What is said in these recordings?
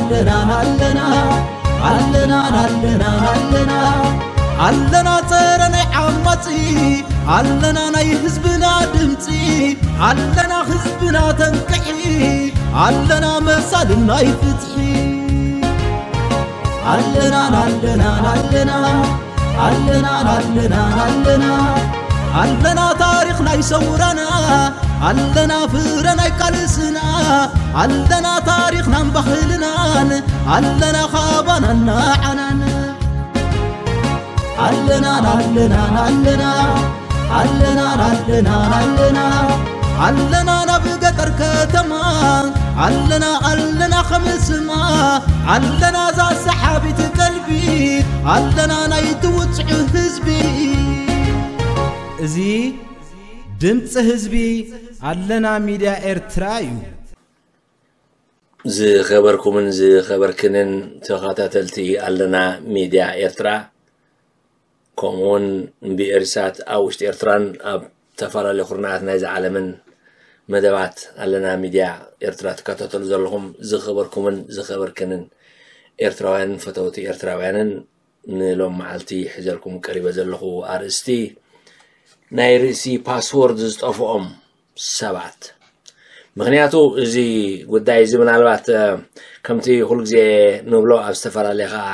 ኣለና ኣለና ኣለና ኣለና ኣለና ኣለና ጸረ ናይ ዓማጺ ኣለና ናይ ህዝብና ድምጺ ኣለና ህዝብና ተንቅሒ ኣለና መሳልን ናይ ፍትሒ ኣለና ኣለና ኣለና ኣለና ኣለና ኣለና ኣለና ታሪኽ ናይ ሰውራና ኣለና ፍረ ናይ ቃልስና ኣለና ታሪኽናን ባህልናን ኣለና ካባናን ንዓናን ኣለና ኣለና ኣለና ኣለና ኣለና ኣለና ኣለና ናብ ገጠር ከተማ ኣለና ኣለና ከም ስማ ኣለና እዛ ሰሓቢት ቀልቢ ኣለና ናይ ትውፅዑ ህዝቢ እዚ ድምፂ ህዝቢ ኣለና ሚድያ ኤርትራ እዩ። ዝኸበርኩምን ዝኸበርክንን ተኸታተልቲ ኣለና ሚድያ ኤርትራ፣ ከምኡውን ብኤሪሳት ኣብ ውሽጢ ኤርትራን ኣብ ዝተፈላለዩ ኩርናዓት ናይዚ ዓለምን መደባት ኣለና ሚድያ ኤርትራ ትከታተሉ ዘለኹም ዝኸበርኩምን ዝኸበርክንን ኤርትራውያንን ፈተውቲ ኤርትራውያንን፣ ንሎም መዓልቲ ሒዘልኩም ቀሪበ ዘለኹ ኣርእስቲ ናይ ርእሲ ፓስወርድ ዝጠፍኦም ሰባት። ምኽንያቱ እዚ ጉዳይ እዚ ምናልባት፣ እ፣ ከምቲ ኩሉ ግዜ ንብሎ ኣብ ዝተፈላለየ ኸዓ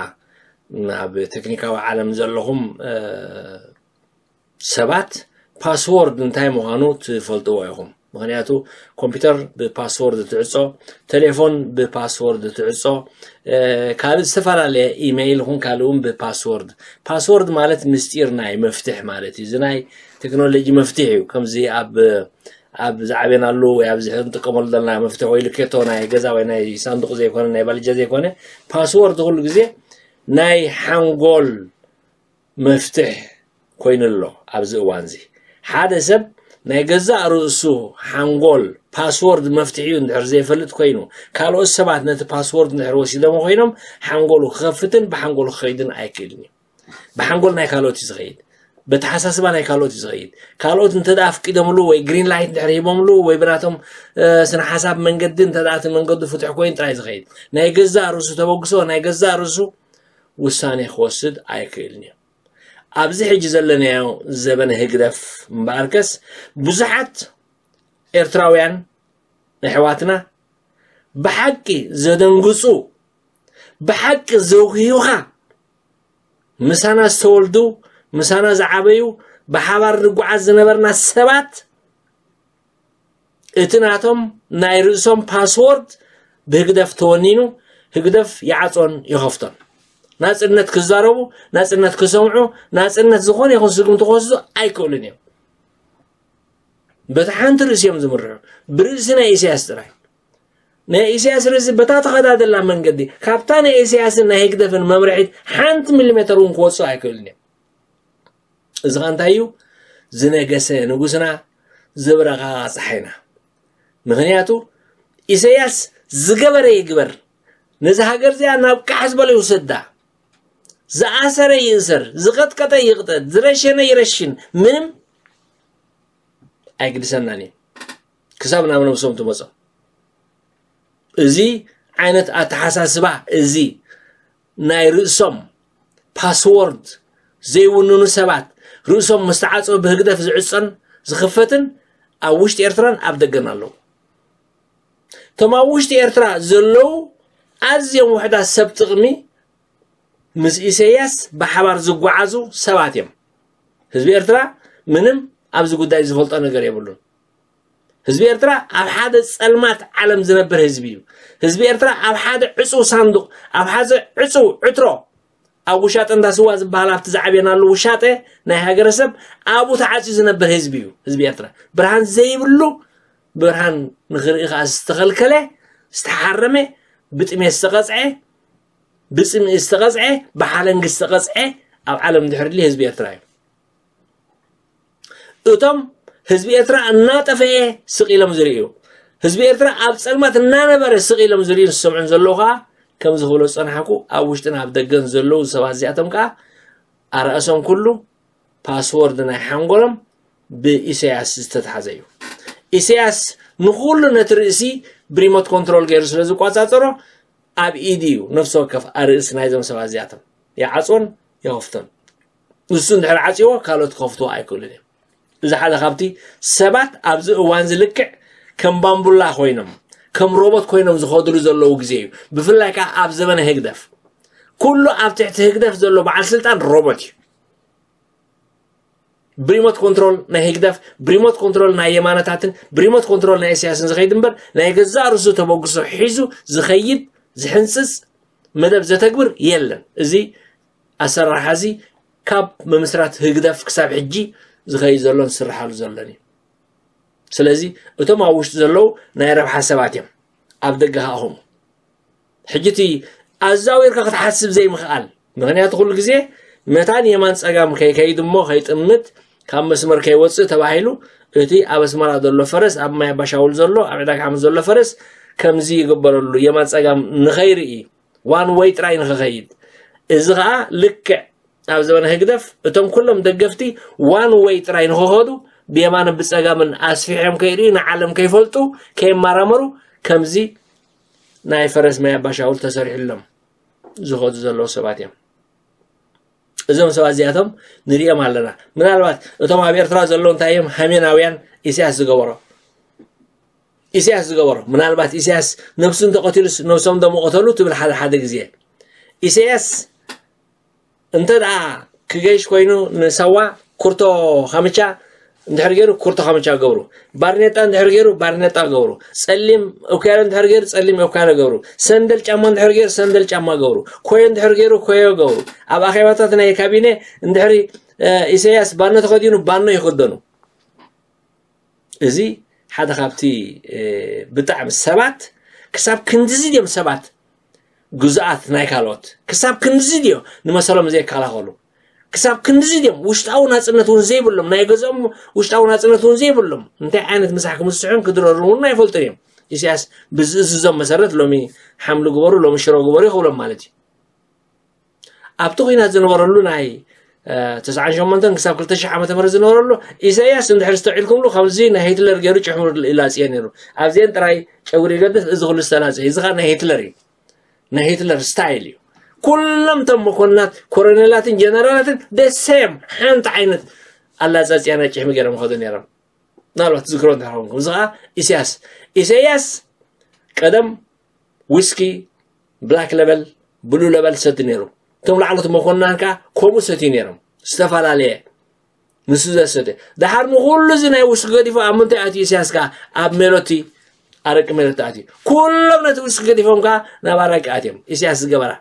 ኣብ ቴክኒካዊ ዓለም ዘለኹም፣ እ፣ ሰባት ፓስወርድ እንታይ ምዃኑ ትፈልጥዎ ኢኹም። ምኽንያቱ ኮምፒውተር ብፓስወርድ ትዕጾ፣ ቴሌፎን ብፓስወርድ ትዕጾ፣ እ፣ ካልእ ዝተፈላለየ ኢሜይል ይኹን ካልእ እውን ብፓስወርድ። ፓስወርድ ማለት ምስጢር ናይ መፍትሕ ማለት እዩ። እዚ ናይ ቴክኖሎጂ መፍትሕ እዩ። ከምዚ ኣብ፣ ኣብ ዝዓበናሉ ወይ ኣብዚ ሕዚ እንጥቀመሉ ዘለና መፍትሕ ወይ ልኬቶ ናይ ገዛ ወይ ናይ ሳንዱቕ ዘይኮነ፣ ናይ ባልጃ ዘይኮነ፣ ፓስወርድ ኩሉ ግዜ ናይ ሓንጎል መፍትሕ ኮይኑ ኣሎ። ኣብዚ እዋን እዚ ሓደ ሰብ ናይ ገዛእ ርእሱ ሓንጎል ፓስወርድ መፍትሒኡ እንድሕር ዘይፈልጥ ኮይኑ፣ ካልኦት ሰባት ነቲ ፓስወርድ እንድሕር ወሲዶሞ ኮይኖም፣ ሓንጎሉ ክኸፍትን ብሓንጎሉ ክኸይድን ኣይክእልን እዩ። ብሓንጎል ናይ ካልኦት እዩ ዝኸይድ፣ በተሓሳስባ ናይ ካልኦት እዩ ዝኸይድ። ካልኦት እንተ ደኣ ኣፍቂዶምሉ ወይ ግሪን ላይት እንድሕር ሂቦምሉ ወይ ብናቶም፣ እ፣ ስነ ሓሳብ መንገዲ እንተ ደኣ እቲ መንገዱ ፍቱሕ ኮይኑ ጥራይ ዝኸይድ። ናይ ገዛእ ርእሱ ተበግሶ፣ ናይ ገዛእ ርእሱ ውሳኔ ክወስድ ኣይክእልን እዩ። ኣብዚ ሕጂ ዘለናዮ ዘበነ ህግደፍ እምበኣርከስ ብዙሓት ኤርትራውያን ኣሕዋትና ብሓቂ ዘደንግጹ፣ ብሓቂ ዘጉህዩኻ፣ ምሳና ዝተወልዱ፣ ምሳና ዝዓበዩ፣ ብሓባር ንጓዓዝ ዝነበርና ሰባት፣ እቲ ናቶም ናይ ርእሶም ፓስወርድ ብህግደፍ ተወኒኑ፣ ህግደፍ ይዓጾን ይኸፍቶን። ናጽነት ክዛረቡ፣ ናጽነት ክሰምዑ፣ ናጽነት ዝኾነ ይኹን ስጉምቲ ክወስዱ ኣይክእሉን እዮም። በቲ ሓንቲ ርእሲ እዮም ዝምርሑ፣ ብርእሲ ናይ ኢሳያስ ጥራይ። ናይ ኢሳያስ ርእሲ በታ ተኸዳደላ መንገዲ፣ ካብታ ናይ ኢሳያስን ናይ ህግደፍን መምርሒት ሓንቲ ሚሊሜተር እውን ክወጽኡ ኣይክእሉን እዮም። እዚ ኸ እንታይ እዩ? ዝነገሰ ንጉስና፣ ዝብረቓ ጸሓይና። ምኽንያቱ ኢሳያስ ዝገበረ ይግበር፣ ነዚ ሃገር እዚኣ ናብ ቃሕ ዝበለ ይውሰዳ፣ ዝኣሰረ ይእሰር፣ ዝቐጥቀጠ ይቕጠጥ፣ ዝረሸነ ይረሽን፣ ምንም ኣይግድሰናን እዩ። ክሳብ ናብ ነብሶም ትመጾም። እዚ ዓይነት ኣተሓሳስባ፣ እዚ ናይ ርእሶም ፓስወርድ ዘይውንኑ ሰባት፣ ርእሶም ምስ ተዓጸወ ብህግደፍ ዝዕጸን ዝኽፈትን ኣብ ውሽጢ ኤርትራን ኣብ ደገን ኣለዉ። እቶም ኣብ ውሽጢ ኤርትራ ዘለዉ ኣዝዮም ውሑዳት ሰብ ጥቕሚ ምስ ኢሳያስ ብሓባር ዝጓዓዙ ሰባት እዮም። ህዝቢ ኤርትራ ምንም ኣብዚ ጉዳይ ዝፈልጦ ነገር የብሉን። ህዝቢ ኤርትራ ኣብ ሓደ ጸልማት ዓለም ዝነብር ህዝቢ እዩ። ህዝቢ ኤርትራ ኣብ ሓደ ዕጹው ሳንዱቕ፣ ኣብ ሓደ ዕጹው ዕትሮ፣ ኣብ ውሻጠ እንዳ ስዋ ዝበሃል ኣብቲ ዝዓበናሉ ውሻጠ ናይ ሃገረሰብ ኣብኡ ተዓጽዩ ዝነብር ህዝቢ እዩ። ህዝቢ ኤርትራ ብርሃን ዘይብሉ፣ ብርሃን ንኽርኢ ከኣ ዝተኸልከለ፣ ዝተሓረመ፣ ብጥሜት ዝተቐጽዐ፣ ብጽምኢ ዝተቐጽዐ፣ ብሓለንጊ ዝተቐጽዐ ኣብ ዓለም ድሕር ድሊ ህዝቢ ኤርትራ እዩ። እቶም ህዝቢ ኤርትራ እናጠፈኤ ስቕ ኢሎም ዝርእዩ፣ ህዝቢ ኤርትራ ኣብ ጸልማት እናነበረ ስቕ ኢሎም ዝርእዩን ዝሰምዑን ዘለዉ ከኣ፣ ከምዚ ክብሎ ዝጸናሕኩ፣ ኣብ ውሽጥን ኣብ ደገን ዘለዉ ሰባት እዚኣቶም ከኣ ኣርእሶም ኩሉ ፓስወርድ ናይ ሓንጎሎም ብኢሳያስ ዝተትሓዘ እዩ። ኢሳያስ ንኹሉ ነቲ ርእሲ ብሪሞት ኮንትሮል ገይሩ ስለ ዝቆጻጸሮ፣ ኣብ ኢድ እዩ ነፍሲ ወከፍ ኣርእስ ናይዞም ሰባት እዚኣቶም። ይዓፅዎን ይኸፍቶን። ንሱ እንድሕር ዓፅዎ ካልኦት ክኸፍትዎ ኣይክእሉን እዮም። እዚ ሓደ ካብቲ ሰባት ኣብዚ እዋን እዚ ልክዕ ከም ባምቡላ ኮይኖም ከም ሮቦት ኮይኖም ዝኸድሉ ዘለዉ ግዜ እዩ። ብፍላይ ከዓ ኣብ ዘመነ ህግደፍ ኩሉ ኣብ ትሕቲ ህግደፍ ዘሎ በዓል ስልጣን ሮቦት እዩ። ብሪሞት ኮንትሮል ናይ ህግደፍ ብሪሞት ኮንትሮል ናይ የማነታትን ብሪሞት ኮንትሮል ናይ ኢሳያስን ዝኸይድ እምበር ናይ ገዛእ ርእሱ ተበግሶ ሒዙ ዝኸይድ ዝሕንፅፅ መደብ ዘተግብር የለን። እዚ ኣሰራርሓ እዚ ካብ ምምስራት ህግደፍ ክሳብ ሕጂ ዝኸይድ ዘሎን ዝስርሓሉ ዘሎን እዩ። ስለዚ እቶም ኣብ ውሽጢ ዘለዉ ናይ ረብሓ ሰባት እዮም፣ ኣብ ደገ ከዓ ኹም ሕጂ እቲ ኣዛዊርካ ክትሓስብ ዘይምኽኣል ምኽንያቱ ኩሉ ግዜ መታን የማን ፀጋም ከይከይድ እሞ ከይጥምት ካብ መስመር ከይወፅእ ተባሂሉ እቲ ኣብ ኣስመራ ዘሎ ፈረስ ኣብ ማይ ኣባሻውል ዘሎ ኣብ ዕዳጋ ሓሙስ ዘሎ ፈረስ ከምዚ ይግበረሉ የማን ፀጋም ንኸይርኢ ዋን ወይ ጥራይ ንኽኸይድ። እዚ ከዓ ልክዕ ኣብ ዘበነ ህግደፍ እቶም ኩሎም ደገፍቲ ዋን ወይ ጥራይ ንኽኸዱ ብየማንን ብፀጋምን ኣስፊሖም ከይርእዩ ንዓለም ከይፈልጡ ከይመራመሩ ከምዚ ናይ ፈረስ ማይ ኣባሻውል ተሰሪሕሎም ዝኸዱ ዘለዉ ሰባት እዮም። እዞም ሰባት እዚኣቶም ንሪኦም ኣለና። ምናልባት እቶም ኣብ ኤርትራ ዘለዉ እንታይ እዮም ሃሜናውያን ኢሳያስ ዝገበሮ ኢሳያስ ዝገበሮ ምናልባት ኢሳያስ ነብሱ እንተቐቲሉስ ነብሶም ደሞ ቀተሉ ትብል ሓደ ሓደ ግዜ ኢሳያስ እንተ ደኣ ክገይሽ ኮይኑ ንሳዋ ኩርቶ ካምቻ እንድሕር ገይሩ ኩርቶ ካምቻ ገብሩ ባርኔጣ እንድሕር ገይሩ ባርኔጣ ገብሩ ጸሊም ኦክያሎ እንድሕር ገይሩ ጸሊም ኦክያሎ ገብሩ ሰንደል ጫማ እንድሕር ገይሩ ሰንደል ጫማ ገብሩ ኮዮ እንድሕር ገይሩ ኮዮ ገብሩ ኣብ ኣኼባታት ናይ ካቢነ እንድሕሪ ኢሳያስ ባኖ ተኸዲኑ ባኖ ይኽደኑ። እዚ ሓደ ካብቲ ብጣዕሚ ሰባት ክሳብ ክንድዚ ድዮም ሰባት ግዙኣት ናይ ካልኦት ክሳብ ክንድዚ ድዮ ንመሰሎም ዘይከላኸሉ ክሳብ ክንድዚ ድዮም ውሽጣዊ ናፅነት እውን ዘይብሎም ናይ ገዝኦም ውሽጣዊ ናፅነት እውን ዘይብሎም እንታይ ዓይነት ምሳሕ ክምስሑን ክድረሩ እውን ኣይፈልጡን እዮም። ኢሳያስ ብዝእዝዞም መሰረት ሎሚ ሓምሊ ግበሩ ሎሚ ሽሮ ግበሩ ይኽብሎም ማለት እዩ። ኣብቲ ኲናት ዝነበረሉ ናይ ተስዓን ሸሞንተን ክሳብ ክልተ ሽሕ ዓመተ ምህረት ዝነበረሉ ኢሳያስ እንድሕር ዝተውዒልኩምሉ ከምዚ ናይ ሂትለር ገይሩ ጭሕሙ ይላፅዮ ነይሩ። ኣብዚአን ጥራይ ጨጉሪ ይገድፍ እዚ ኩሉ ዝተላፀ እዚ ከዓ ናይ ሂትለር እዩ። ናይ ሂትለር ስታይል እዩ። ኩሎም እቶም መኮንናት ኮሎኔላትን ጀነራላትን ደሴም ሓንቲ ዓይነት ኣላፃፅያ ናይ ጭሕሚ ገይሮም ይኸዱ ነይሮም። ምናልባት ትዝክሮ እንተኾንኩም እዚ ከዓ ኢሳያስ ኢሳያስ ቀደም ዊስኪ ብላክ ለበል ብሉ ለበል ሰቲ ነይሩ። እቶም ላዕሎት መኮንናን ከዓ ከምኡ ሰትዩ ነይሮም ዝተፈላለየ ንሱ ዘሰተ ድሓር ንኩሉ እዚ ናይ ውስኪ ገዲፎ ኣብ ምንታይ ኣትዩ ኢሳያስ ከዓ ኣብ ሜሎቲ ኣረቂ ሜሎቲ ኣትዩ ኩሎም ነቲ ውስኪ ገዲፎም ከዓ ናብ ኣረቂ ኣትዮም ኢሳያስ ዝገበራ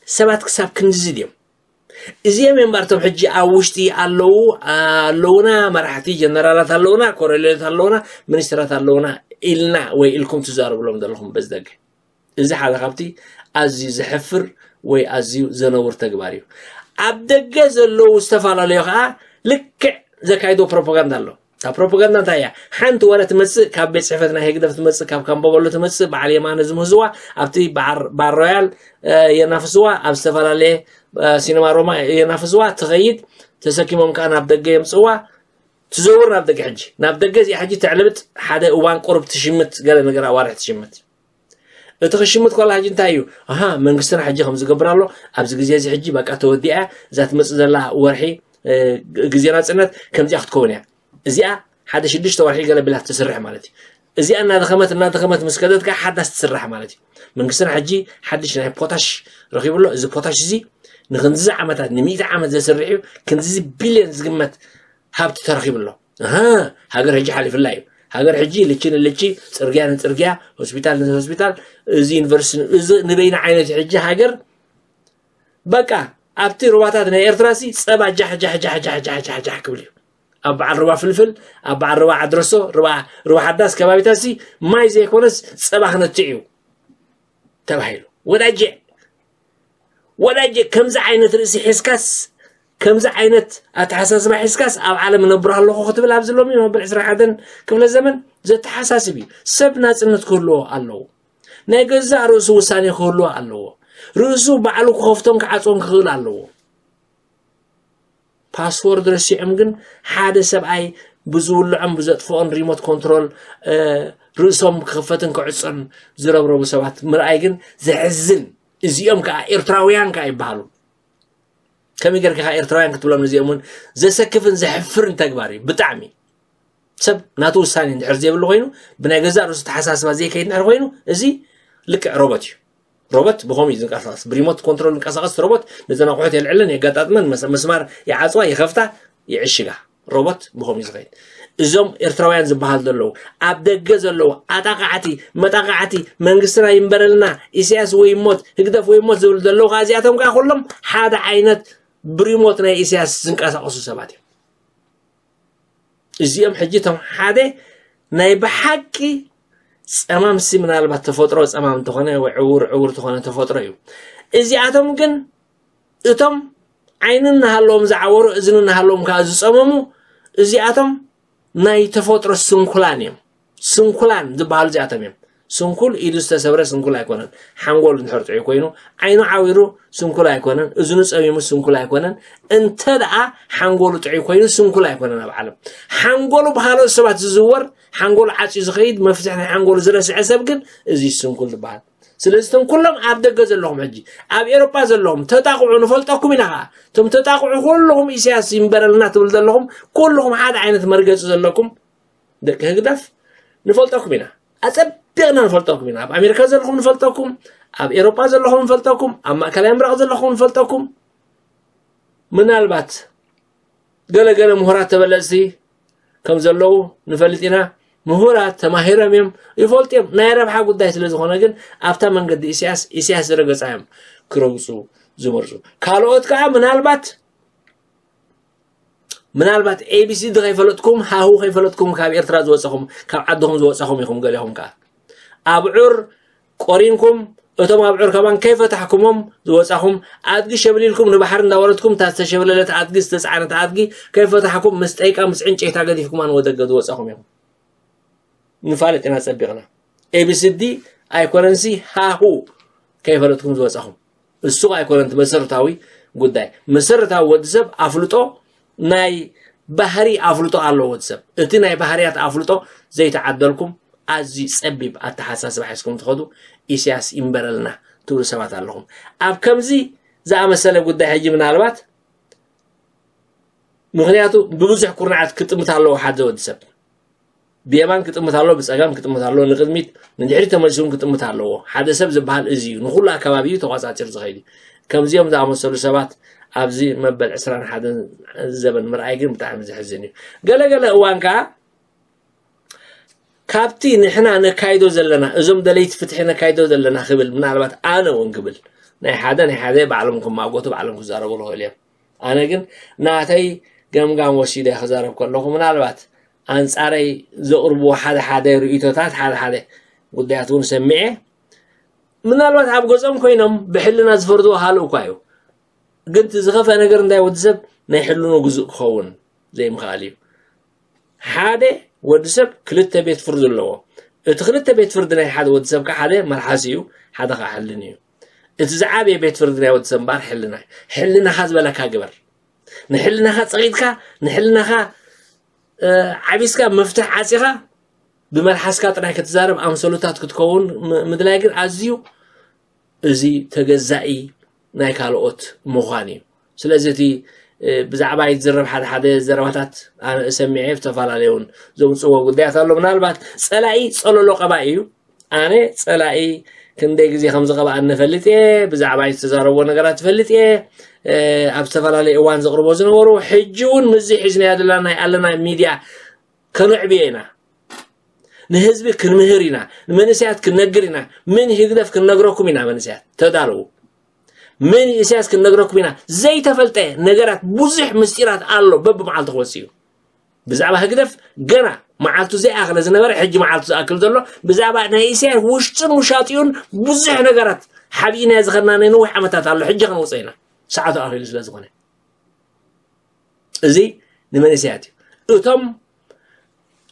ሰባት ክሳብ ክንድዚ ድዮም እዚኦም እዮም ባርቶም ሕጂ ኣብ ውሽጢ ኣለዉ ኣለዉና መራሕቲ ጀነራላት ኣለዉና ኮረሌት ኣለዉና ሚኒስትራት ኣለዉና ኢልና ወይ ኢልኩም ትዛረብሎም ዘለኹም በዚ ደገ እዚ ሓደ ካብቲ ኣዝዩ ዘሕፍር ወይ ኣዝዩ ዘነውር ተግባር እዩ። ኣብ ደገ ዘለዉ ዝተፈላለዩ ከዓ ልክዕ ዘካይዶ ፕሮፓጋንዳ ኣሎ። ካብ ፕሮፓጋንዳ እንታይ እያ? ሓንቲ ወረ ትመፅእ ካብ ቤት ፅሕፈት ናይ ህግደፍ ትመፅእ ካብ ካምቦበሎ ትመፅእ በዓል የማነ ዝምህዝዋ ኣብቲ ባር ሮያል የናፍስዋ ኣብ ዝተፈላለየ ሲነማ ሮማ የናፍስዋ ትኸይድ ተሰኪሞም ከዓ ናብ ደገ የምፅዋ ትዘውር ናብ ደገ ሕጂ ናብ ደገ እዚኣ ሕጂ ተዕልብጥ ሓደ እዋን ቁርብ ትሽምት ገለ ነገር ኣዋርሕ ትሽምት እቲ ክሽምት ኮላ ሕጂ እንታይ እዩ ኣሃ መንግስትና ሕጂ ከም ዝገብር ኣሎ ኣብዚ ግዜ እዚ ሕጂ በቃ ተወዲኣ እዛ ትመፅእ ዘላ ወርሒ ግዜ ናፅነት ከምዚኣ ክትከውን እያ እዚኣ ሓደ ሽዱሽተ ወርሒ ገለ ቢላ ትስርሕ ማለት እዩ እዚኣ እናደኸመት እናደኸመት ምስ ከደት ከዓ ሓዳስ ትስራሕ ማለት እዩ መንግስትና ሕጂ ሓድሽ ናይ ፖታሽ ረኪቡ ኣሎ እዚ ፖታሽ እዚ ንክንዚ ዓመታት ንሚእቲ ዓመት ዘስርሕ እዩ ክንዚ ቢልዮን ዝግመት ሃብቲ ተረኪቡ ኣሎ ሃገር ሕጂ ሓሊፍላ እዩ ሃገር ሕጂ ልቺ ንልቺ ፅርግያ ንፅርግያ ሆስፒታል ንሆስፒታል እዚ ዩኒቨርሲቲ እዚ ንበይና ዓይነት ሕጂ ሃገር በቃ ኣብቲ ሩባታት ናይ ኤርትራ ሲ ፀባ ጃሕ ጃሕ ጃሕ ጃሕ ጃሕ ጃሕ ጃሕ ክብል እዩ ኣብ በዓል ሩባ ፍልፍል ኣብ በዓል ሩባ ዓድረሶ ሩባ ሩባ ሓዳስ ከባቢታት ሲ ማይ ዘይኮነስ ፀባ ክነትዕ እዩ ተባሂሉ ወዳጀ ወዳጀ ከምዚ ዓይነት ርእሲ ሒዝካስ ከምዚ ዓይነት ኣተሓሳስባ ሒዝካስ ኣብ ዓለም እነብር ኣለኹ ክትብል ኣብዚ ሎሚ መበል ዕስራን ሓደን ክፍለ ዘመን ዘተሓሳስብ እዩ። ሰብ ናጽነት ክህልዎ ኣለዎ። ናይ ገዛእ ርእሱ ውሳኔ ክህልዎ ኣለዎ። ርእሱ ባዕሉ ክኸፍቶን ክዓጽዎን ክኽእል ኣለዎ። ፓስወርድ ረሲዖም ግን ሓደ ሰብኣይ ብዝውልዖም ብዘጥፍኦን ሪሞት ኮንትሮል ርእሶም ክኽፈትን ክዕጾን ዝረብረቡ ሰባት ምርኣይ ግን ዘሕዝን። እዚኦም ከዓ ኤርትራውያን ከዓ ይበሃሉ። ከመይ ጌርካ ኤርትራውያን ክትብሎም? እዚኦም እውን ዘሰክፍን ዘሕፍርን ተግባር እዩ። ብጣዕሚ ሰብ ናቱ ውሳኔ እንድሕር ዘይብሉ ኮይኑ፣ ብናይ ገዛእ ርእሱ ተሓሳስባ ዘይከይድ እንድሕር ኮይኑ፣ እዚ ልክዕ ሮቦት እዩ። ሮቦት ብኸምኡ እዩ ዝንቀሳቐስ። ብሪሞት ኮንትሮል ዝንቀሳቐስ ሮቦት ነዘን ኣቑሑት የልዕለን፣ የጋጣጥመን፣ መስ- መስማር ይዓፅዋ፣ ይኸፍታ፣ ይዕሽጋ። ሮቦት ብኸምኡ እዩ ዝኸይድ። እዞም ኤርትራውያን ዝበሃል ዘለዉ፣ ኣብ ደገ ዘለዉ ኣጣቃዕቲ፣ መጣቃዕቲ፣ መንግስትና ይንበረልና፣ ኢሳያስ ወይ ሞት፣ ህግደፍ ወይ ሞት ዝብሉ ዘለዉ ከዓ እዚኣቶም ከዓ ኩሎም ሓደ ዓይነት ብሪሞት ናይ ኢሳያስ ዝንቀሳቐሱ ሰባት እዮም። እዚኦም ሕጂ እቶም ሓደ ናይ ብሓቂ ፀማምሲ፣ ምናልባት ተፈጥሮ ፀማም እንተኾነ ወይ ዕውር ዕውር ተኾነ ተፈጥሮ እዩ። እዚኣቶም ግን እቶም ዓይኒ እናሃለዎም ዝዓወሩ፣ እዝኒ እናሃለዎም ከዓ ዝፀመሙ፣ እዚኣቶም ናይ ተፈጥሮ ስንኩላን እዮም። ስንኩላን ዝበሃሉ እዚኣቶም እዮም። ስንኩል ኢዱ ዝተሰብረ ስንኩል ኣይኮነን። ሓንጎሉ እንድሕር ጥዑይ ኮይኑ፣ ዓይኑ ዓዊሩ ስንኩል ኣይኮነን፣ እዝኑ ጸሚሙ ስንኩል ኣይኮነን። እንተ ደኣ ሓንጎሉ ጥዑይ ኮይኑ ስንኩል ኣይኮነን ኣብ ዓለም። ሓንጎሉ ብኻልኦት ሰባት ዝዝወር፣ ሓንጎሉ ዓጽዩ ዝኸይድ፣ መፍትሕ ናይ ሓንጎሉ ዝረስዐ ሰብ ግን እዚ ስንኩል ዝበሃል። ስለዚ እቶም ኩሎም ኣብ ደገ ዘለኹም ሕጂ ኣብ ኤሮጳ ዘለኹም ተጣቕዑ ንፈልጠኩም ኢና ኸዓ። እቶም ተጣቕዑ ኩልኹም ኢሳያስ ይንበረልና ትብል ዘለኹም ኩልኹም ሓደ ዓይነት መርገጺ ዘለኩም ደቂ ህግደፍ ንፈልጠኩም ኢና። ኣጸቢቕና ንፈልጠኩም ኢና። ኣብ ኣሜሪካ ዘለኹም ንፈልጠኩም፣ ኣብ ኤሮጳ ዘለኹም ንፈልጠኩም፣ ኣብ ማእከላይ ምብራቕ ዘለኹም ንፈልጠኩም። ምናልባት ገለገለ ምሁራት ተበለጽቲ ከም ዘለዉ ንፈልጥ ኢና። ምሁራት ተማሂሮም እዮም፣ ይፈልጡ እዮም። ናይ ረብሓ ጉዳይ ስለ ዝኾነ ግን ኣብታ መንገዲ ኢሳያስ፣ ኢሳያስ ዝረገጻ እዮም ክረግጹ ዝመርጹ። ካልኦት ከዓ ምናልባት ምናልባት ኤቢሲዲ ከይፈለጥኩም፣ ሃሁ ከይፈለጥኩም ካብ ኤርትራ ዝወጻኹም፣ ካብ ዓድኹም ዝወጻኹም ኢኹም። ገሊኹም ከኣ ኣብዑር ቆሪንኩም፣ እቶም ኣብዑር ከማን ከይፈታሕኩሞም ዝወጻኹም፣ ኣድጊ ሸብሊልኩም ንባሕሪ እንዳወረድኩም፣ እታ ዝተሸብለለት ኣድጊ፣ ዝተጻዕነት ኣድጊ ከይፈታሕኩም፣ ምስ ጠይቃ ምስ ዕንጨይታ ገዲፍኩማ ንወደገ ዝወጻኹም ኢኹም። ንፋለጥ ኢና ጸቢቕና። ኤቢሲዲ ኣይኮነንሲ ሃሁ ከይፈለጥኩም ዝወጻኹም። እሱ ኣይኮነን እቲ መሰረታዊ ጉዳይ። መሰረታዊ ወዲ ሰብ ኣፍልጦ፣ ናይ ባህሪ ኣፍልጦ ኣለዎ ወዲ ሰብ። እቲ ናይ ባህርያት ኣፍልጦ ዘይተዓደልኩም፣ ኣዝዩ ጸቢብ ኣተሓሳስባ ሒዝኩም ትኸዱ፣ ኢሳያስ ይንበረልና ትብሉ ሰባት ኣለኹም። ኣብ ከምዚ ዝኣመሰለ ጉዳይ ሕጂ ምናልባት፣ ምኽንያቱ ብብዙሕ ኩርናዓት ክጥምት ኣለዎ ሓደ ወዲ ሰብ። ብየማን ክጥምት ኣሎ፣ ብጸጋም ክጥምት ኣሎ፣ ንቕድሚት ንድሕሪት ተመሊሱ እውን ክጥምት ኣለዎ። ሓደ ሰብ ዝበሃል እዚ እዩ፣ ንኹሉ ኣከባቢ እዩ ተቋጻጺሩ ዝኸይድ እዩ። ከምዚኦም ዝኣመሰሉ ሰባት ኣብዚ መበል ዕስራን ሓደን ዘበን ምርኣይ ግን ብጣዕሚ ዘሕዝን እዩ። ገለገለ እዋን ከኣ ካብቲ ንሕና ነካይዶ ዘለና፣ እዞም ደለይቲ ፍትሒ ነካይዶ ዘለና ክብል፣ ምናልባት ኣነ እውን ክብል፣ ናይ ሓደ ናይ ሓደ ባዕሎም ክማጎቱ ባዕሎም ክዛረቡ ይኽእሉ እዮም። ኣነ ግን ናተይ ገምጋም ወሲደ ክዛረብ ከለኹ ምናልባት ኣንጻረይ ዘቕርብዎ ሓደ ሓደ ርእይቶታት፣ ሓደ ሓደ ጉዳያት እውን ሰሚዐ፣ ምናልባት ኣብ ገጾም ኮይኖም ብሕልና ዝፈርድዎ ካልእ እኳ እዩ። ግን እቲ ዝኸፍአ ነገር እንታይ ወዲ ሰብ ናይ ሕልኑ ግዙእ ክኸውን ዘይምኽኣል እዩ። ሓደ ወዲ ሰብ ክልተ ቤት ፍርዲ ኣለዎ። እቲ ክልተ ቤት ፍርዲ ናይ ሓደ ወዲ ሰብ ከዓ ሓደ መልሓስ እዩ፣ ሓደ ከዓ ሕልን እዩ። እቲ ዝዓበየ ቤት ፍርዲ ናይ ወዲ ሰብ እምበኣር ሕልና እዩ። ሕልናኻ ዝበለካ ግበር። ንሕልናኻ ጸቒጥካ፣ ንሕልናኻ፣ እ፣ ዓቢስካ፣ መፍትሕ ዓጺኻ፣ ብመልሓስካ ጥራይ ክትዛረብ ኣምሰሉታት ክትከውን ም-፣ ምድላይ ግን ኣዝዩ እዚ ተገዛኢ ናይ ካልኦት ምዃን እዩ። ስለዚ እቲ፣ እ፣ ብዛዕባ ይዝረብ ሓደ ሓደ ዘረባታት ኣነ ሰሚዐ ዝተፈላለዩን ዘምጽዎ ጉዳያት ኣሎ። ምናልባት ጸላኢ ጸለሎ ቀባኢ እዩ። ኣነ ጸላኢ ክንደይ ግዜ ከም ዝቐብኣኒ እፈልጥ እየ። ብዛዕባ ዝተዛረብዎ ነገራት እፈልጥ እየ። እ፣ ኣብ ዝተፈላለየ እዋን ዘቕርቦ ዝነበሩ፣ ሕጂ እውን ምስዚ ሒዝናዮ ዘለና ናይ ኣለና ሚድያ ከነዕብዮ ኢና። ንህዝቢ ክንምህር ኢና። ንመንእሰያት ክንነግር ኢና። ምን ህግደፍ ክንነግረኩም ኢና። መንእሰያት ተዳለዉ። ምን ኢሳያስ ክንነግረኩም ኢና። ዘይተፈልጠ ነገራት፣ ብዙሕ ምስጢራት ኣሎ በብመዓልቱ ክወጽእ እዩ። ብዛዕባ ህግደፍ ገና መዓልቱ ዘይኣኸለ ዝነበረ፣ ሕጂ መዓልቱ ዝኣክል ዘሎ፣ ብዛዕባ ናይ ኢሳያስ ውሽጥን ውሻጢኡን ብዙሕ ነገራት ሓቢእና ዝኸድና ናይ ነዊሕ ዓመታት ኣሎ። ሕጂ ከነውፅኦ ኢና። ሰዓቱ ኣኺሉ ስለ ዝኾነ። እዚ ንመንእሰያት እዩ። እቶም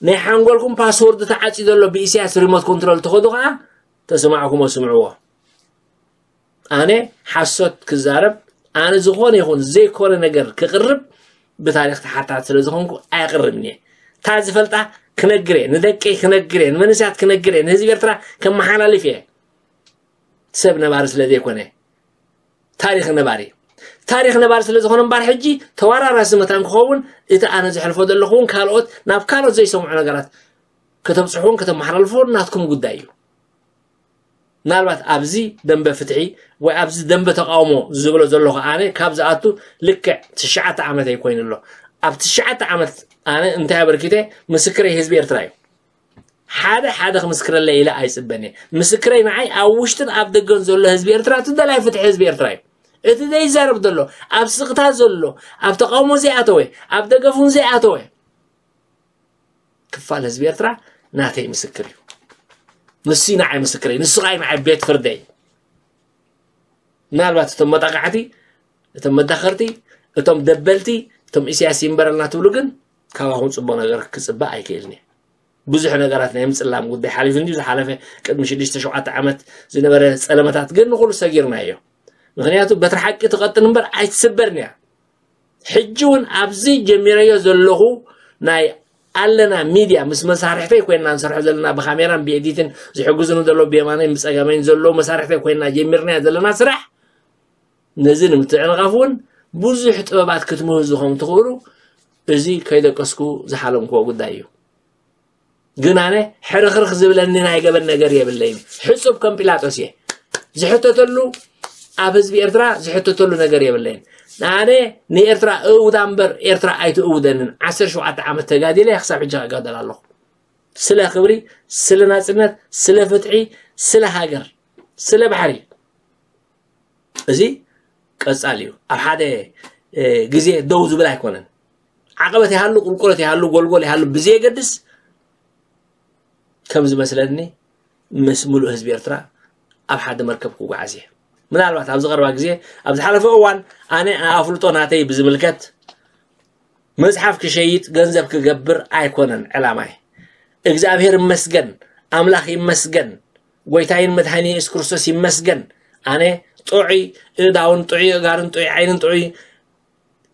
ናይ ሓንጎልኩም ፓስወርድ ተዓፅዩ ዘሎ ብኢሳያስ ሪሞት ኮንትሮል ትኸዱ ከዓ ተሰማዕኩሞ ስምዕዎ። ኣነ ሓሶት ክዛረብ፣ ኣነ ዝኾነ ይኹን ዘይኮነ ነገር ክቕርብ ብታሪኽ ተሓታት ስለ ዝኾንኩ ኣየቕርብን እየ። እታ ዝፈልጣ ክነግር እየ፣ ንደቀይ ክነግር እየ፣ ንመንእሰያት ክነግር እየ፣ ንህዝቢ ኤርትራ ከመሓላልፍ እየ። ሰብ ነባሪ ስለ ዘይኮነ፣ ታሪኽ ነባሪ። ታሪኽ ነባሪ ስለ ዝኾነ እምበር፣ ሕጂ ተወራራሲ መታን ክኸውን፣ እቲ ኣነ ዘሕልፎ ዘለኹ እውን ካልኦት፣ ናብ ካልኦት ዘይሰምዑ ነገራት ከተብጽሑን ከተመሓላልፉን ናትኩም ጉዳይ እዩ። ምናልባት ኣብዚ ደንበ ፍትሒ ወይ ኣብዚ ደንበ ተቃውሞ ዝብሎ ዘለኹ ኣነ ካብ ዝኣቱ ልክዕ ትሽዓተ ዓመት ኣይኮይኑ ኣሎ። ኣብ ትሽዓተ ዓመት ኣነ እንታይ ኣበርኪተ? ምስክረይ ህዝቢ ኤርትራ እዩ። ሓደ ሓደ ክምስክረለይ ኢለ ኣይጽበን እየ። ምስክረይ ንዓይ ኣብ ውሽጥን ኣብ ደገን ዘሎ ህዝቢ ኤርትራ፣ እቲ ደላይ ፍትሒ ህዝቢ ኤርትራ እዩ። እቲ ዘይዛረብ ዘሎ፣ ኣብ ስቕታ ዘሎ፣ ኣብ ተቃውሞ ዘይኣተወ፣ ኣብ ደገፍ እውን ዘይኣተወ ክፋል ህዝቢ ኤርትራ ናተይ ምስክር እዩ። ንሱ ንዓይ ምስክረይ፣ ንሱ ኸኣ ንዓይ ቤት ፍርደይ። ምናልባት እቶም መጣቃዕቲ፣ እቶም መዳኸርቲ፣ እቶም ደበልቲ፣ እቶም ኢሳያስ ይንበረልና ትብሉ ግን ካባኹም ጽቡቕ ነገር ክጽበ ኣይክእልን እየ። ብዙሕ ነገራት ናይ ምጽላም ጉዳይ ሓሊፉ እንድዩ ዝሓለፈ ቅድሚ ሽዱሽተ ሸውዓተ ዓመት ዝነበረ ጸለመታት ግን ንኹሉ ሰጊርናዮ። ምኽንያቱ በትሪ ሓቂ ትቐጥን እምበር ኣይትስበርን እያ። ሕጂ እውን ኣብዚ ጀሚረዮ ዘለኹ ናይ ኣለና ሚድያ ምስ መሳርሕተይ ኮይንና ንሰርሖ ዘለና ብካሜራን ብኤዲትን ዝሕግዙኒ ዘለዉ ብየማነይን ብጸጋመይን ዘለዉ መሳርሕተይ ኮይንና ጀሚርናዮ ዘለና ስራሕ ነዚ ንምትዕንቓፍ እውን ብዙሕ ጥበባት ክትምህዙ ከም ትኽእሉ እዚ ከይደቀስኩ ዝሓለምክዎ ጉዳይ እዩ። ግን ኣነ ሕርኽርኽ ዝብለኒ ናይ ገበን ነገር የብለይን። ሕጹብ ከም ጲላጦስ እየ። ዝሕተተሉ ኣብ ህዝቢ ኤርትራ ዝሕተተሉ ነገር የብለይን። ኣነ ንኤርትራ እእውዳ እምበር ኤርትራ ኣይትእውደንን። ዓሰርተ ሸውዓተ ዓመት ተጋዲለ ክሳብ ሕጂ እጋደል ኣለኹ። ስለ ክብሪ፣ ስለ ናጽነት፣ ስለ ፍትሒ፣ ስለ ሃገር፣ ስለ ባሕሪ። እዚ ቀጻሊ እዩ። ኣብ ሓደ ግዜ ደው ዝብል ኣይኮነን። ዓቐበት ይሃሉ፣ ቁልቁለት ይሃሉ፣ ጎልጎል ይሃሉ ብዘየገድስ ከም ዝመስለኒ ምስ ምሉእ ህዝቢ ኤርትራ ኣብ ሓደ መርከብ ክጓዓዝ እየ። ምናልባት ኣብዚ ቀረባ ግዜ ኣብ ዝሓለፈ እዋን ኣነ ኣፍልጦ ናተይ ብዝምልከት መጽሓፍ ክሸይጥ ገንዘብ ክገብር ኣይኮነን ዕላማይ። እግዚኣብሔር ይመስገን፣ ኣምላኽ ይመስገን፣ ጎይታይን መድሓኒ የሱስ ክርስቶስ ይመስገን። ኣነ ጥዑይ እዳውን ጥዑይ እጋርን ጥዑይ ዓይንን ጥዑይ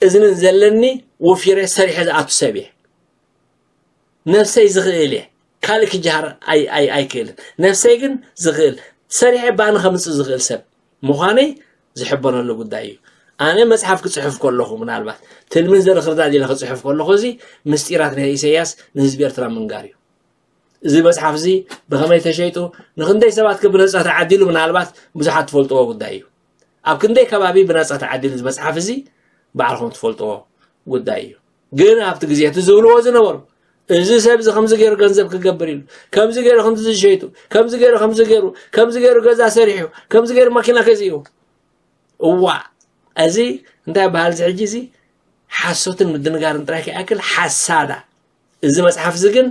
እዝንን ዘለኒ ወፊረ ሰሪሐ ዝኣቱ ሰብ እየ። ነብሰይ ዝኽእል እየ። ካልእ ክጀሃር ኣይ- ኣይ- ኣይክእልን። ነብሰይ ግን ዝኽእል፣ ሰሪሐ ባኒ ከምጽእ ዝኽእል ሰብ ምዃነይ ዝሕበነሉ ጉዳይ እዩ። ኣነ መጽሓፍ ክጽሕፍ ከለኹ፣ ምናልባት ትልምን ዘርኢ ክርዳድ ኢለ ክጽሕፍ ከለኹ፣ እዚ ምስጢራት ናይ ኢሳያስ ንህዝቢ ኤርትራ ምንጋር እዩ። እዚ መጽሓፍ እዚ ብኸመይ ተሸይጡ፣ ንኽንደይ ሰባት ከ ብነጻ ተዓዲሉ፣ ምናልባት ብዙሓት ትፈልጥዎ ጉዳይ እዩ። ኣብ ክንደይ ከባቢ ብነጻ ተዓዲሉ እዚ መጽሓፍ እዚ ባዕልኹም ትፈልጥዎ ጉዳይ እዩ። ግን ኣብቲ ግዜ እቲ ዝብልዎ ዝነበሩ፣ እዚ ሰብ እዚ ከምዚ ገይሩ ገንዘብ ክገብር ኢሉ፣ ከምዚ ገይሩ ከምዚ ዝሸይጡ፣ ከምዚ ገይሩ ከምዚ ገይሩ፣ ከምዚ ገይሩ ገዛ ሰሪሑ፣ ከምዚ ገይሩ መኪና ገዚኡ። እዋ፣ እዚ እንታይ ይበሃል? እዚ ሕጂ እዚ ሓሶትን ምድንጋርን ጥራይ ከይኣክል ሓሳዳ። እዚ መጽሓፍ እዚ ግን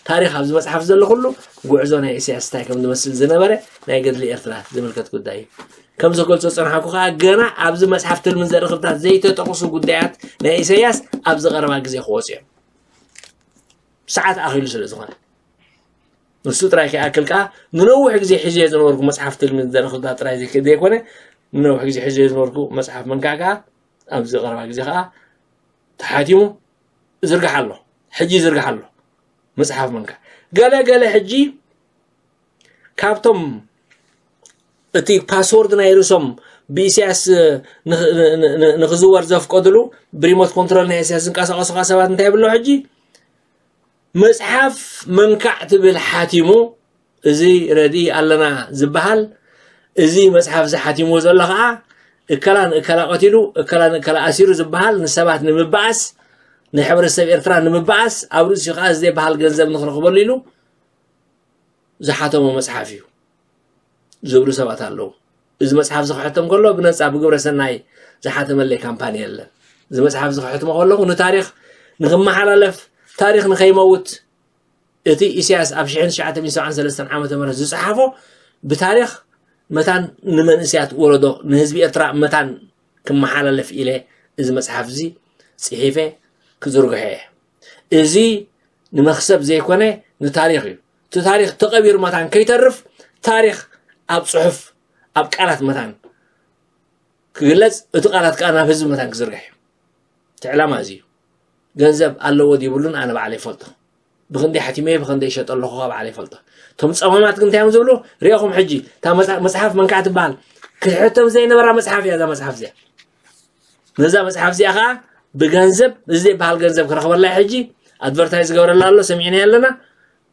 ታሪኽ ኣብዚ መጽሓፍ ዘሎ ኩሉ ጉዕዞ ናይ ኢሳያስ እንታይ ከም ዝመስል ዝነበረ ናይ ገድሊ ኤርትራ ዝምልከት ጉዳይ እዩ። ከም ዘገልጾ ዝጸንሓኩ ከኣ ገና ኣብዚ መጽሓፍ ትልምን ዘርኢ ክርዳድ ዘይተጠቕሱ ጉዳያት ናይ ኢሳያስ ኣብዚ ቀረባ ግዜ ክወጹ እዮም። ሰዓት ኣኺሉ ስለ ዝኾነ። ንሱ ጥራይ ከይኣክል ከኣ ንነዊሕ ግዜ ሒዘዮ ዝነበርኩ መጽሓፍ ትልምን ዘርኢ ክርዳድ ጥራይ ዘይከ- ዘይኮነ ንነዊሕ ግዜ ሒዘዮ ዝነበርኩ መጽሓፍ መንካዕ ከኣ ኣብዚ ቀረባ ግዜ ከኣ ተሓቲሙ ይዝርጋሕ ኣሎ። ሕጂ ይዝርጋሕ ኣሎ። መጽሓፍ መንካዕ። ገለ ገለ ሕጂ ካብቶም እቲ ፓስወርድ ናይ ርእሶም ብኢሳያስ ንኽ- ን- ን- ን- ንኽዝወር ዘፍቀድሉ ብሪሞት ኮንትሮል ናይ ኢሳያስ ዝንቀሳቐሱ ከኣ ሰባት እንታይ ይብሎ ሕጂ? መጽሓፍ መንካዕ ትብል ሓቲሙ፣ እዚ ረድኢ ኣለና ዝበሃል፣ እዚ መጽሓፍ እዚ ሓቲምዎ ዘሎ ኸዓ እከላ ንእከላ ቀቲሉ፣ እከላ ንእከላ ኣሲሩ ዝበሃል ንሰባት ንምበኣስ፣ ንሕብረተሰብ ኤርትራ ንምበኣስ፣ ኣብ ርእሲኡ ኸዓ እዚ ዘይበሃል ገንዘብ ንኽረኽበሉ ኢሉ ዝሓተሞ መጽሓፍ እዩ ዝብሉ ሰባት ኣለዉ። እዚ መጽሓፍ እዚ ክሕተም ከሎ ብነጻ ብግብረ ሰናይ ዝሓተመለይ ካምፓኒ የለን። እዚ መጽሓፍ እዚ ክሕትሞ ከለኹ ንታሪኽ ንኽመሓላለፍ፣ ታሪኽ ንኸይመውት፣ እቲ ኢሳያስ ኣብ ሽሕን ትሽዓተ ሚእትን ሰብዓን ሰለስተን ዓመተ ምህረት ዝጸሓፎ ብታሪኽ መታን ንመንእሰያት ወለዶ ንህዝቢ ኤርትራ መታን ክመሓላለፍ ኢለ እዚ መጽሓፍ እዚ ጽሒፈ ክዝርግሖ እየ። እዚ ንመኽሰብ ዘይኮነ ንታሪኽ እዩ። እቲ ታሪኽ ተቐቢሩ መታን ከይተርፍ ታሪኽ ኣብ ጽሑፍ ኣብ ቃላት መታን ክግለጽ፣ እቲ ቃላት ከኣ ናብ ህዝቢ መታን ክዝርጋሕ እዩ። እቲ ዕላማ እዚ እዩ። ገንዘብ ኣለዎ ድይብሉን ኣነ ባዕለ ይፈልጦ። ብክንደይ ሓቲመ ብክንደይ ይሸጠ ኣለኹ ባዕለ ይፈልጦ። እቶም ጸማማት ግን እንታይ እዮም ዝብሉ? ሪኦኹም ሕጂ እታ መጽሓፍ መንካዕ ትበሃል ክትሕተም ዘይነበራ መጽሓፍ እያ እዛ መጽሓፍ እዚኣ። ነዛ መጽሓፍ እዚኣ ከዓ ብገንዘብ እዚ ዘይበሃል ገንዘብ ክረኽበላ ሕጂ ኣድቨርታይዝ ዝገብረላ ኣሎ ሰሚዕና ኣለና።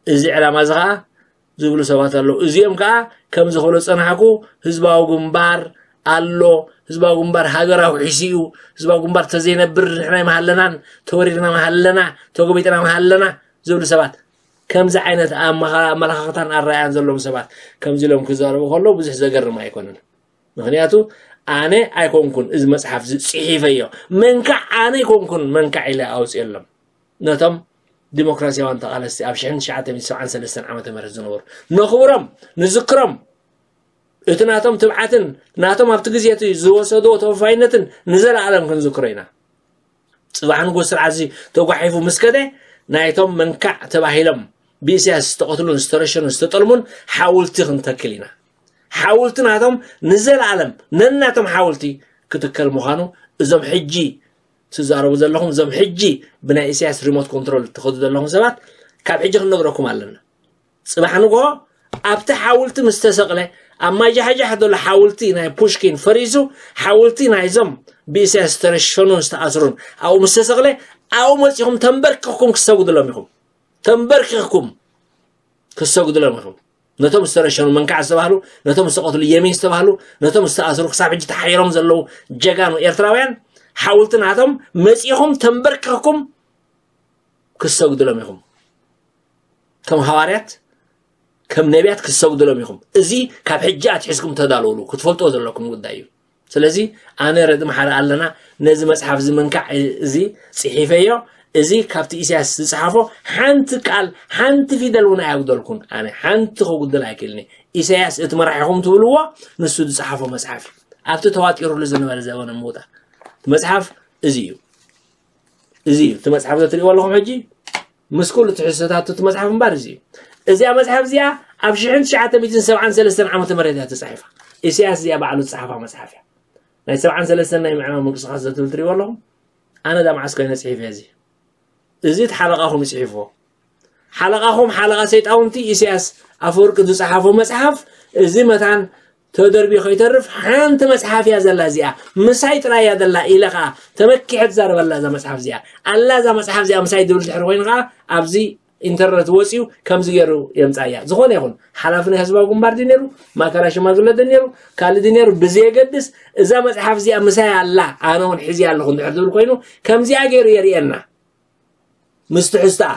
እዚ ዕላማ እዚ ከዓ ዝብሉ ሰባት ኣለዉ። እዚኦም ከዓ ከም ዝኽእሉ ጸናሕኩ ህዝባዊ ግንባር ኣሎ። ህዝባዊ ግንባር ሃገራዊ ሒሱ እዩ። ህዝባዊ ግንባር ተዘይነብር ንሕና ይመሃለናን ተወሪርና መሃለና ተጎቢጥና መሃለና ዝብሉ ሰባት ከምዚ ዓይነት ኣመላኻኽታን ኣረኣያን ዘለዎም ሰባት ከምዚ ኢሎም ክዛረቡ ከለዉ ብዙሕ ዘገርም ኣይኮነን። ምክንያቱ ኣነ ኣይኮንኩን እዚ መፅሓፍ ዝፅሒፈዮ መንካዕ ኣነ ኣይኮንኩን መንካዕ ኢለ ኣውፅየሎም ነቶም ዲሞክራሲያውያን ተቓለስቲ ኣብ ሽሕን ትሽዓተ ሚእትን ሰብዓን ሰለስተን ዓመተ ምህረት ዝነበሩ ነኽብሮም ንዝክሮም እቲ ናቶም ትብዓትን ናቶም ኣብቲ ግዜ እቲ ዝወሰድዎ ተወፋይነትን ንዘለኣለም ክንዝክሮ ኢና። ጽባሕ ንጎ ስርዓት እዚ ተጓሒፉ ምስ ከደ ናይቶም መንካዕ ተባሂሎም ብኢሳያስ ዝተቐትሉን ዝተረሸኑን ዝተጠልሙን ሓውልቲ ክንተክል ኢና። ሓውልቲ ናቶም ንዘለኣለም ነናቶም ሓውልቲ ክትከል ምዃኑ እዞም ሕጂ ትዛረቡ ዘለኹም እዞም ሕጂ ብናይ ኢሳያስ ሪሞት ኮንትሮል ትኸዱ ዘለኹም ሰባት ካብ ሕጂ ክንነግረኩም ኣለና። ጽባሕ ንግሆ ኣብቲ ሓውልቲ ምስ ተሰቕለ ኣብ ማጃሕጃሕ ዘሎ ሓውልቲ ናይ ፑሽኪን ፈሪሱ ሓውልቲ ናይዞም ብኢሳያስ ዝተረሸኑን ዝተኣስሩን ኣብኡ ምስ ተሰቕለ ኣብኡ መጺኹም ተንበርኪኽኩም ክሰጉድሎም ኢኹም። ተንበርኪኽኩም ክሰጉድሎም ኢኹም። ነቶም ዝተረሸኑ መንካዕ ዝተባህሉ ነቶም ዝተቐትሉ የሚን ዝተባህሉ ነቶም ዝተኣስሩ ክሳብ ሕጂ ተሓይሮም ዘለዉ ጀጋኑ ኤርትራውያን ሓውልቲ ናቶም መጺኹም ተንበርኪኽኩም ክሰጉድሎም ኢኹም። ከም ሃዋርያት ከም ነቢያት ክሰጉድሎም ኢኹም። እዚ ካብ ሕጂ ኣትሒዝኩም ተዳለውሉ ክትፈልጥዎ ዘለኩም ጉዳይ እዩ። ስለዚ ኣነ ረድም ሓደ ኣለና ነዚ መጽሓፍ እዚ መንካዕ እዚ ጽሒፈዮ። እዚ ካብቲ ኢሳያስ ዝጽሓፎ ሓንቲ ቃል ሓንቲ ፊደል እውን ኣያጉደልኩን። ኣነ ሓንቲ ከጉድል ኣይክእልኒ። ኢሳያስ እቲ መራሒኹም ትብልዎ ንሱ ዝጽሓፎ መጽሓፍ እዩ። ኣብቲ ተዋጢሩሉ ዝነበረ ዘበነ ምውጣ መጽሓፍ እዚ እዩ። እዚ እዩ እቲ መጽሓፍ ዘትሪእዎ ኣለኹም ሕጂ ምስ ኩሉ ትሕዝቶታት እቲ መጽሓፍ እምበር እዚ እዩ። እዚኣ መጽሓፍ እዚኣ ኣብ ሽሕን ትሽዓተ ሚእትን ሰብዓን ሰለስተን ዓመተ ምህረት እያ ተጻሒፋ። ኢሳያስ እዚኣ ባዕሉ ዝጸሓፋ መጽሓፍ እያ። ናይ ሰብዓን ሰለስተን ናይ ምዕራብ ምንቅስቃስ ዘትብል ትሪእዎ ኣለኹም። ኣነ ዳ መዓስ ኮይነ ጽሒፈ እዚ እዚ እቲ ሓለቓኹም ይጽሒፍዎ። ሓለቓኹም ሓለቓ ሰይጣውንቲ ኢሳያስ ኣፈወርቂ ዝጸሓፎ መጽሓፍ እዚ መታን ተደርብዩ ከይተርፍ ሓንቲ መጽሓፍ እያ ዘላ እዚኣ ምሳይ ጥራይ እያ ዘላ ኢለ ከዓ ተመኪሐ ትዛረበላ እዛ መጽሓፍ እዚኣ ኣላ እዛ መጽሓፍ እዚኣ ምሳይ ድብል ድሕሪ ኮይኑ ከዓ ኣብዚ ኢንተርነት ወፂኡ ከምዚ ገይሩ የምፃያ ዝኾነ ይኹን ሓላፊ ናይ ህዝባዊ ግንባር ድዩ ነይሩ ማእከላይ ሽማግለ ዶ ነይሩ ካልእ ድዩ ነይሩ ብዘየገድስ እዛ መፅሓፍ እዚኣ ምሳይ ኣላ ኣነ እውን ሒዚ ኣለኹ እንድሕር ዝብል ኮይኑ ከምዚኣ ገይሩ የርእየና ምስ ትሕዝቶኣ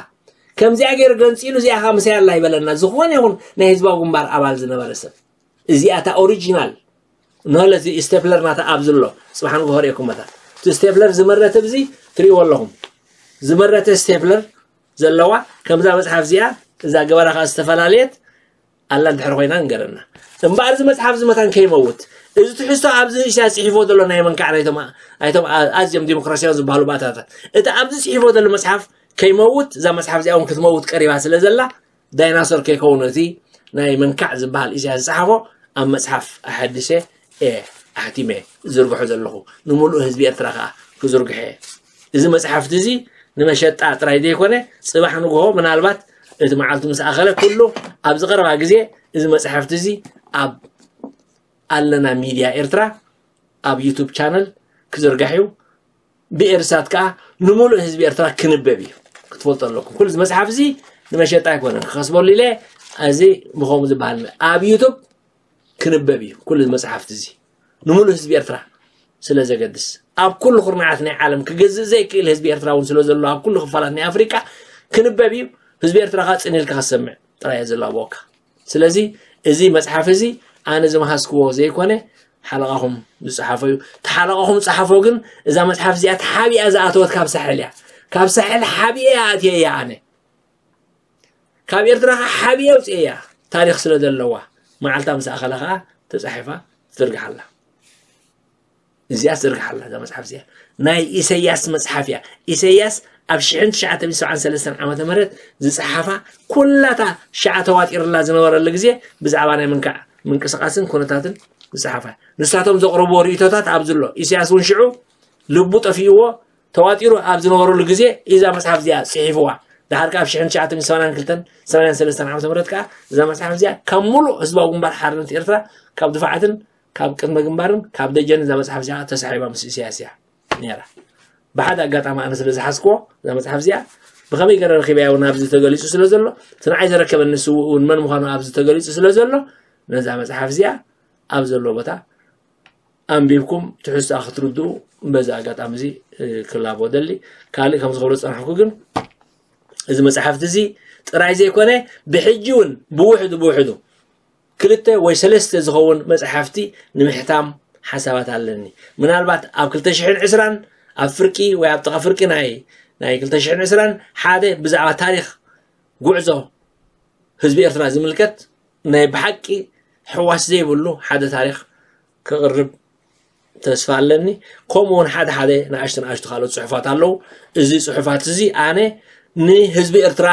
ከምዚኣ ገይሩ ገንፂሉ እዚኣ ከዓ ምሳይ ኣላ ይበለና ዝኾነ ይኹን ናይ ህዝባዊ ግንባር ኣባል ዝነበረ ሰብ እዚኣ እታ ኦሪጂናል ንለዚ ስቴፕለር ናታ ኣብዚ ኣሎ ፅባሕ ንግሆ ርእየኩም መታ እቲ ስቴፕለር ዝመረተ ብዚ ትርእይዎ ኣለኹም ዝመረተ ስቴፕለር ዘለዋ ከምዛ መፅሓፍ እዚኣ እዛ ገበራ ከዓ ዝተፈላለየት ኣላ እንድሕር ኮይና ንገረና እምበኣር እዚ መፅሓፍ እዚ መታን ከይመውት እዚ ትሕዝቶ ኣብዚ ንእሽያ ፅሒፎ ዘሎ ናይ መንካዕ ናይቶም ኣይቶም ኣዝዮም ዲሞክራሲያውን ዝበሃሉ ባእታታት እቲ ኣብዚ ፅሒፎ ዘሎ መፅሓፍ ከይመውት እዛ መፅሓፍ እዚኣ እውን ክትመውት ቀሪባ ስለ ዘላ ዳይናሶር ከይከውን እቲ ናይ መንካዕ ዝበሃል ኢሳያስ ዝፀሓፎ ኣብ መፅሓፍ ኣሐድሰ እየ ኣሕቲመ ዝዝርግሖ ዘለኹ ንምሉእ ህዝቢ ኤርትራ ከዓ ክዝርግሐ እየ። እዚ መፅሓፍቲ እዚ ንመሸጣ ጥራይ ዘይኮነ ፅባሕ ንግሆ ምናልባት እቲ መዓልቱ ምስ ኣኸለ ኩሉ ኣብዚ ቀረባ ግዜ እዚ መፅሓፍቲ እዚ ኣብ ኣለና ሚድያ ኤርትራ ኣብ ዩቱብ ቻነል ክዝርጋሕ እዩ። ብኤርሳት ከዓ ንምሉእ ህዝቢ ኤርትራ ክንበብ እዩ ክትፈልጡ ኣለኩም። ኩሉ እዚ መፅሓፍ እዚ ንመሸጣ ኣይኮነን ክኸስበሉ ኢለ እዚ ብኸምኡ ዝበሃል ኣብ ዩቱብ ክንበብ እዩ ኩሉ እዚ መፅሓፍቲ እዚ ንምሉእ ህዝቢ ኤርትራ ስለ ዘገድስ ኣብ ኩሉ ኩርናዓት ናይ ዓለም ክገዝእ ዘይክእል ህዝቢ ኤርትራ እውን ስለ ዘሎ ኣብ ኩሉ ክፋላት ናይ ኣፍሪቃ ክንበብ እዩ። ህዝቢ ኤርትራ ከዓ ፅን ኢልካ ክሰምዕ ጥራይ እየ ዘላብወካ። ስለዚ እዚ መፅሓፍ እዚ ኣነ ዝመሃዝክዎ ዘይኮነ ሓለቓኹም ዝፀሓፎ እዩ። እቲ ሓለቓኹም ዝፀሓፎ ግን እዛ መፅሓፍ እዚኣ ተሓቢኣ ዝኣተወት ካብ ሳሕል እያ። ካብ ሳሕል ሓቢአ ኣትየ እያ ኣነ። ካብ ኤርትራ ከዓ ሓቢአ ኣውፅአ እያ። ታሪክ ስለ ዘለዋ መዓልታ ምስ ኣኸለ ከዓ ተፃሒፋ ትዝርግሓላ። እዚኣ ትዝርግሓላ እዛ መፅሓፍ እዚኣ ናይ ኢሰያስ መፅሓፍ እያ። ኢሰያስ ኣብ ሽሕን ትሽዓተ ሚእትን ሰብዓን ሰለስተን ዓመተ ምህረት ዝፀሓፋ ኩላታ ሻዓ ተዋጢርላ ዝነበረሉ ግዜ ብዛዕባ ናይ ምንካዕ ምንቅስቃስን ኩነታትን ዝፀሓፋ ንሳቶም ዘቕረብዎ ርእቶታት ኣብዚ ኣሎ። ኢሰያስ እውን ሽዑ ልቡ ጠፊእዎ ተዋጢሩ ኣብ ዝነበረሉ ግዜ እዛ መጽሓፍ እዚኣ ጽሒፍዋ። ድሓር ካብ ሽሕን ትሽዓተ ሚእትን ሰማንያን ክልተን ሰማንያን ሰለስተን ዓመተ ምህረት ከኣ እዛ መጽሓፍ እዚኣ ካብ ሙሉእ ህዝባዊ ግንባር ሓርነት ኤርትራ ካብ ድፋዓትን ካብ ቅድመ ግንባርን ካብ ደጀን እዛ መጽሓፍ እዚኣ ተሳሒባ ምስ ኢሳያስ እያ ነይራ። ብሓደ ኣጋጣሚ ኣነ ስለ ዝሓዝክዎ እዛ መጽሓፍ እዚኣ ብኸመይ ገረ ረኺበያ እውን ኣብዚ ተገሊጹ ስለ ዘሎ እቲ ንዓይ ዘረከበኒ ስውእ እውን መን ምዃኑ ኣብዚ ተገሊጹ ስለ ዘሎ ነዛ መጽሓፍ እዚኣ ኣብ ዘሎ ቦታ ኣንቢብኩም ትሕዝቶኣ ክትርድኡ በዚ ኣጋጣሚ እዚ ክላቦ ደሊ። ካልእ ከም ዝኸብሮ ዝጸናሕኩ ግን እዚ መጽሓፍቲ እዚ ጥራይ ዘይኮነ ብሕጂ እውን ብውሕዱ ብውሕዱ ክልተ ወይ ሰለስተ ዝኸውን መጽሓፍቲ ንምሕታም ሓሳባት ኣለኒ። ምናልባት ኣብ ክልተ ሽሕን ዕስራን ኣብ ፍርቂ ወይ ኣብ ጥቓ ፍርቂ ናይ ናይ ክልተ ሽሕን ዕስራን ሓደ ብዛዕባ ታሪኽ ጉዕዞ ህዝቢ ኤርትራ ዝምልከት ናይ ብሓቂ ሕዋስ ዘይብሉ ሓደ ታሪኽ ክቕርብ ተስፋ ኣለኒ። ከምኡ እውን ሓደ ሓደ ንኣሽቱ ንኣሽቱ ካልኦት ጽሑፋት ኣለዉ። እዚ ጽሑፋት እዚ ኣነ ንህዝቢ ኤርትራ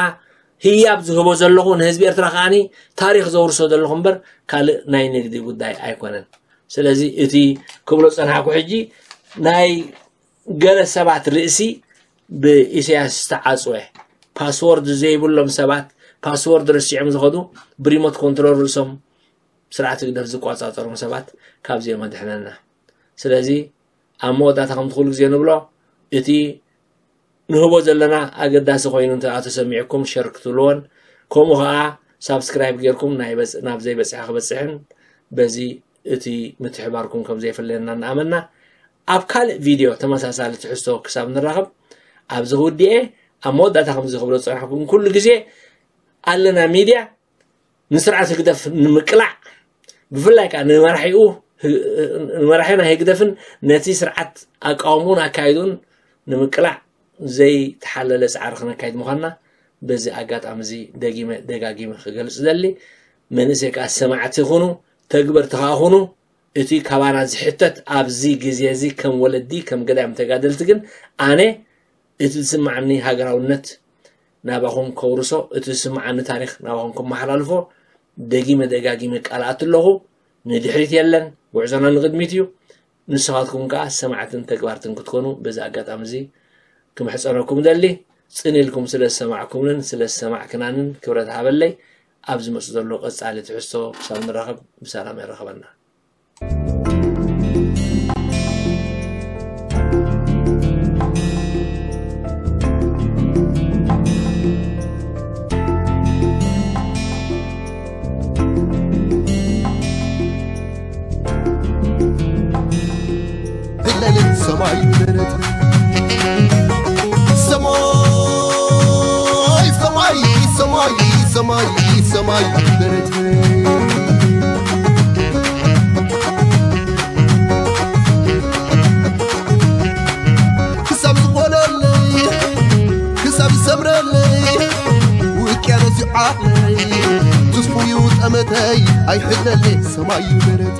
ህያብ ዝህቦ ዘለኹ ንህዝቢ ኤርትራ ከዓኒ ታሪኽ ዘውርሶ ዘለኹ እምበር ካልእ ናይ ንግዲ ጉዳይ ኣይኮነን። ስለዚ እቲ ክብሎ ዝጸናሕኩ ሕጂ ናይ ገለ ሰባት ርእሲ ብኢሳያስ ዝተዓጽወ ፓስወርድ ዘይብሎም ሰባት ፓስወርድ ረሲዖም ዝኸዱ ብሪሞት ኮንትሮል ርእሶም ስርዓት ህግደፍ ዝቆጻጸሮም ሰባት ካብዚኦም ኣድሕነና። ስለዚ ኣብ መወዳእታ ከምቲ ኩሉ ግዜ ንብሎ እቲ ንህቦ ዘለና ኣገዳሲ ኮይኑ እንተ ተሰሚዕኩም ሸር ክትብልዎን ከምኡ ከዓ ሳብስክራይብ ጌርኩም ናይ በጽ- ናብ ዘይበጽሐ ክበጽሕን በዚ እቲ ምትሕባርኩም ከም ዘይፍለየና እናኣመና ኣብ ካልእ ቪድዮ ተመሳሳሊ ትሕዝቶ ክሳብ ንራኸብ ኣብዚ ክውድኤ ኣብ መወዳእታ ከምዚ ክብሎ ዝጸናሕኩም ኩሉ ግዜ ኣለና ሚድያ ንስርዓት ህግደፍ ንምቅላዕ ብፍላይ ከዓ ንመራሒኡ ንመራሒና ህግደፍን ነቲ ስርዓት ኣቃውምኡን ኣካይድኡን ንምቅላዕ ዘይተሓለለ ፃዕሪ ክነካይድ ምዃንና በዚ ኣጋጣሚ እዚ ደጊመ ደጋጊመ ክገልፅ ደሊ። መንእሰይ ከዓ ሰማዕቲ ይኹኑ፣ ተግበርቲ ከዓ ኹኑ። እቲ ካባና ዝሕተት ኣብዚ ግዜ እዚ ከም ወለዲ ከም ገዳይም ተጋደልቲ ግን ኣነ እቲ ዝስማዓኒ ሃገራውነት ናባኹም ከውርሶ፣ እቲ ዝስማዓኒ ታሪኽ ናባኹም ከመሓላልፎ ደጊመ ደጋጊመ ቃል ኣትለኹ። ንድሕሪት የለን፣ ጉዕዞና ንቕድሚት እዩ። ንስኻትኩም ከኣ ሰማዕትን ተግባርትን ክትኮኑ በዚ ኣጋጣሚ እዚ ክምሕጸነኩም ደሊ። ጽን ኢልኩም ስለ ዝሰማዕኩምንን ስለ ዝሰማዕክናንን ክብረት ሃበለይ። ኣብ ዝመጽእ ዘሎ ቀጻሊ ትሕዝቶ ክሳብ ንራኸብ ብሰላም የራኸበና። ለሊት ሰማይ በረት ሰማይ ሰማይ ሰማይ ሰማይ ሰማይ በረት ክሳብ ዝኾነለይ ክሳብ ዝሰምረለይ ውቅያኖስ ይዓለይ ትስፉዩ ጠመተይ ኣይሕለለይ ሰማይ በረት